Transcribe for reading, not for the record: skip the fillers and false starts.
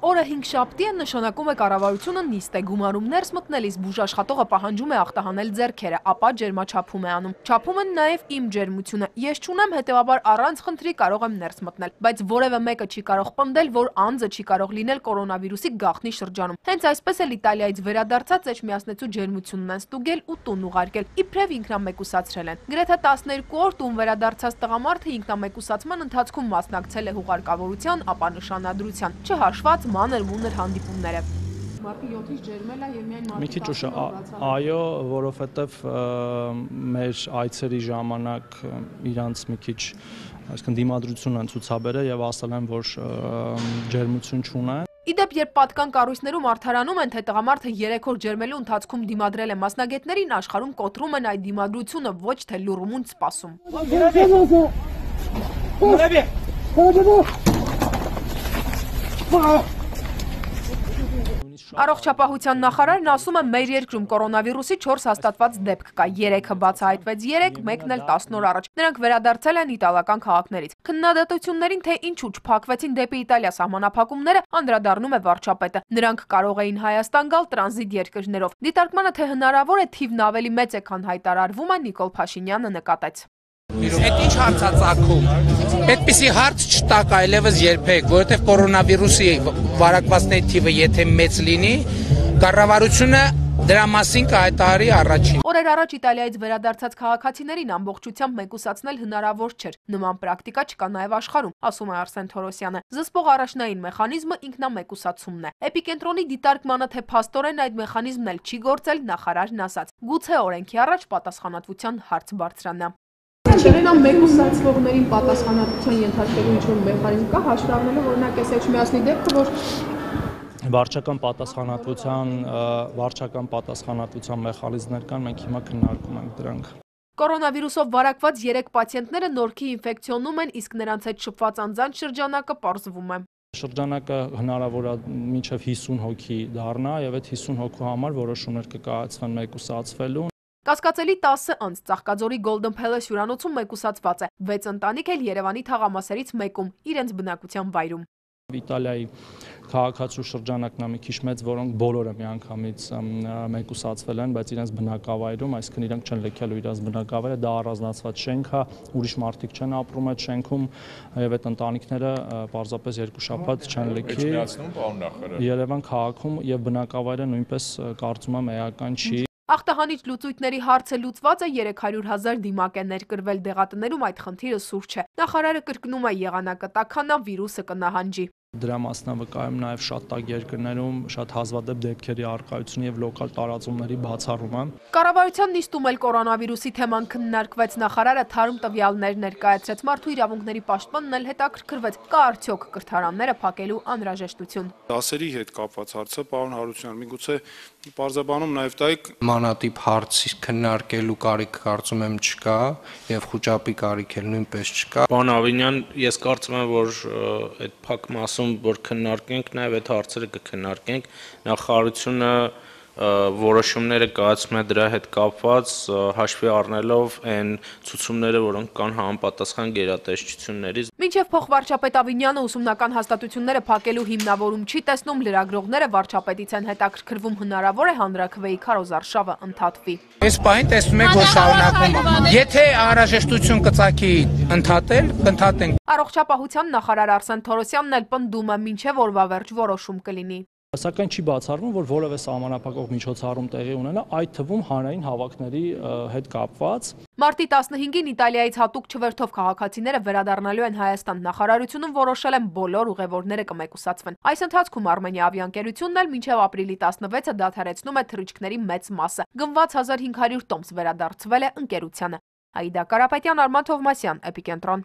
Օրը 5 շաբթի է, նշանակում է կառավարությունը նիստ է գումարում ներս մտնելիս բուժաշխատողը պահանջում է ախտահանել ձեռքերը, ապա ջերմաչափում է անում։ Չափում են նաև իմ ջերմությունը։ Ես չունեմ, հետևաբար առանց խնդրի կարող եմ ներս մտնել, բայց որևէ մեկը չի կարող պնդել, որ անձը չի կարող լինել կորոնավիրուսի գաղտնի շրջանում։ Հենց այսպես էլ Իտալիայից վերադարձած էջմիածնեցու ջերմությունն են ստուգել ու տուն ուղարկել, իբրև ինքնամեկուսացրել են։ Գրեթե 12 օր տուն վերադարձած տղամարդը ինքնամեկուսացման ընթացքում մասնակցել է հուղարկավորության, ապա նշանադրության, չհաշված մանր-մունր հանդիպումները։ Մարդը 7-ից ջերմել է եւ միայն մի քիչ ուշ, այո, որովհետեւ մեր այցերի ժամանակ իրանց մի քիչ այսինքն դիմադրություն են ցուցաբերել եւ ասել են, որ ջերմություն չունեն։ Իդեպ, երբ պատկան կառույցներում արդարանում են, թե տղամարդը 3 օր ջերմելու ընթացքում դիմադրել է մասնագետներին, աշխարհում կոտրում են այդ դիմադրությունը, ոչ թե լուռումունջ սպասում։ Առողջապահության նախարարն ասում է, մեր երկրում կորոնավիրուսի 4 հաստատված դեպք կա, 3-ը բացահայտվեց 3, մեկն էլ 10 օր առաջ։ Նրանք վերադարձել են իտալական քաղաքներից։ Քննադատություններին, թե ինչու չփակվեցին դեպի Իտալիա սահմանափակումները, անդրադառնում է վարչապետը։ Նրանք կարող էին Հայաստան գալ տրանզիտ երկրներով։ Դիտարկմանը, թե հնարավոր է թիվն ավելի մեծ է, քան հայտարարվում է, Նիկոլ Փաշինյանը նկատեց։ Այդ ինչ հարցածագում, այդպիսի հարց չտակ այլևս երբեք, որովհետև կորոնավիրուսի վարակվածների թիվը եթե մեծ լինի, կառավարությունը դրա մասին կհայտարարի առաջին։ Օրեր առաջ Իտալիայից վերադարձած քաղաքացիներին ամբողջությամբ մեկուսացնել հնարավոր չէր։ Նման պրակտիկա չկա նաև աշխարհում, ասում է Արսեն Թորոսյանը։ Զսպող առաջնային մեխանիզմը ինքնամեկուսացումն է։ Էպիկենտրոնի դիտարկմանը, թե փաստորեն այդ մեխանիզմն էլ չի գործել, նախարարն ասաց։ Գուցե օրենքի առաջ պատասխանատվության հարց բարձրանա։ Չերենամ մեկուսացվողներին պատասխանատվության ենթարկելու ինչ-որ մեխանիզմ կա, հաշվի առնելով օրինակ այս էջմիածնի դեպքը, որ վարչական պատասխանատվության մեխանիզմներ կան, մենք հիմա քննարկում ենք դրանք։ Կորոնավիրուսով վարակված 3 պացիենտները նորքի ինֆեկցիոնում են, իսկ նրանց հետ շփված անձանց շրջանակը պարզվում է։ Շրջանակը հնարավոր է մինչև 50 հոգի դառնա եւ այդ 50 հոգու համար որոշումներ կկայացվեն մեկուսացվելու։ Կասկածելի 10 անձ Ծաղկաձորի Golden Palace հյուրանոցում մեկուսացված է, 6 ընտանիք էլ Երևանի թաղամասերից մեկում, իրենց բնակության վայրում։ Իտալիայի քաղաքացու շրջանակն է մի քիչ մեծ, որոնք բոլորը միանգամից մեկուսացվել են, բայց իրենց բնակավայրում, այսինքն իրենք չեն լքելու իրենց բնակավայրը, դա առանձնացված շենք է, ուրիշ մարդիկ չեն ապրում այդ շենքում եւ այդ ընտանիքները պարզապես 2 շաբաթ չեն լքի Երևան քաղաքում եւ բնակավայրը նույնպես կարծում եմ էական չի։ Ախտահանիչ լուծույթների հարցը լուծված է, 300,000 դիմակ է ներկրվել դեղատներում, այդ խնդիրը սուր չէ։ Նախարարը կրկնում է, եղանակը տաքանա, վիրուսը կնահանջի։ Դրա մասնավորկայում նաև շատ տաք երկրներում շատ հազվադեպ դեպքերի առկայություն եւ լոկալ տարածումների բացառումը։ Կառավարության նիստում էլ կորոնավիրուսի թեման քննարկվեց, նախարարը թարմ տվյալներ ներկայացրեց, մարդու իրավունքների պաշտպանն էլ հետաքրքրվեց, կա արդյոք կրթարանները փակելու անհրաժեշտություն։ Դասերի հետ կապված հարցը, պարոն Հարությունյան, միգուցե պարզաբանում նաև տայք մանատիպ հարց քննարկելու կարիք կարծում եմ չկա եւ խոճապի կարիք էլ նույնպես չկա։ Պարոն Ավինյան, ես կարծում եմ, որ այդ փակ մասում որ քննարկենք, նաև այդ հարցերը կքննարկենք, նախարարությունը որոշումները կայացնում է դրա հետ կապված, հաշվի առնելով այն ցուցումները, որոնք կան համապատասխան գերատեսչություններից։ Մինչև փոխվարչապետ Ավինյանը ուսումնական հաստատությունները փակելու հիմնավորում չի տեսնում, լրագրողները վարչապետից են հետաքրքրվում, հնարավոր է հանրաքվեի քարոզարշավը ընդհատվի։ Այս պահին տեսնում եք, որ շարունակվում է։ Եթե անհրաժեշտություն կծակի ընդհատել, կընդհատենք։ Առողջապահության նախարար Արսեն Թորոսյանն էլ պնդում է, մինչև օրվա վերջ որոշում կլինի։ Սակայն չի բացառվում, որ որևէ սահմանափակող միջոցառում տեղի ունենա, այդ թվում հանրային հավաքների հետ կապված։ Մարտի 15-ին Իտալիայից հատուկ չվերթով քաղաքացիները վերադառնալու են Հայաստան, նախարարությունում որոշել են բոլոր ուղևորները կմեկուսացվեն։ Այս ընթացքում Արմենիա ավիաընկերությունն էլ մինչև ապրիլի 16-ը դադարեցնում է թռիչքների մեծ մասը։ Գնված 1500 տոմս վերադարձվել է ընկերությանը։ Աիդա Կարապետյան, Արման Թովմասյան, Էպիկենտրոն։